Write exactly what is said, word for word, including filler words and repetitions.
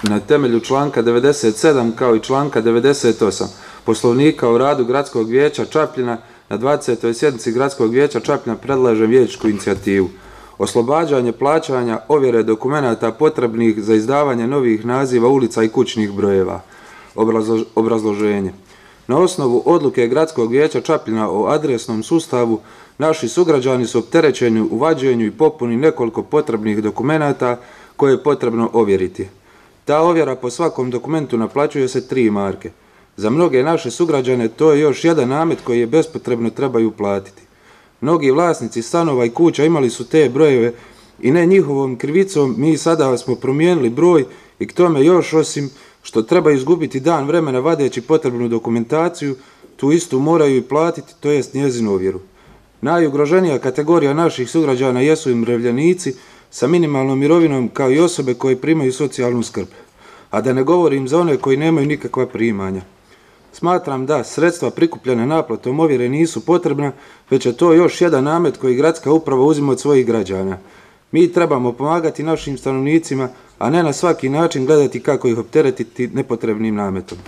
na temelju članka devedeset sedam kao i članka devedeset osam Poslovnika o radu Gradskog vijeća Čapljina na dvadesetoj sjednici Gradskog vijeća Čapljina predlažem vijećničku inicijativu. Oslobađanje plaćanja ovjere dokumenata potrebnih za izdavanje novih naziva ulica i kućnih brojeva. Obrazloženje. Na osnovu odluke Gradskog vijeća Čapljina o adresnom sustavu, naši sugrađani su opterećeni u vađenju i popuni nekoliko potrebnih dokumenata koje je potrebno ovjeriti. Ta ovjera po svakom dokumentu naplaćuje se tri marke. Za mnoge naše sugrađane to je još jedan namet koji je bespotrebno trebaju platiti. Mnogi vlasnici stanova i kuća imali su te brojeve i ne njihovom krivicom mi sada smo promijenili broj i k tome još osim što treba izgubiti dan vremena vadeći potrebnu dokumentaciju, tu istu moraju i platiti, to jest njezinu ovjeru. Najugroženija kategorija naših sugrađana jesu umirovljenici sa minimalnom mirovinom kao i osobe koje primaju socijalnu skrb, a da ne govorim za one koji nemaju nikakva primanja. Smatram da sredstva prikupljene naplatom ovjere nisu potrebna, već je to još jedan namet koji gradska uprava uzima od svojih građana. Mi trebamo pomagati našim stanovnicima, a ne na svaki način gledati kako ih opteretiti nepotrebnim nametom.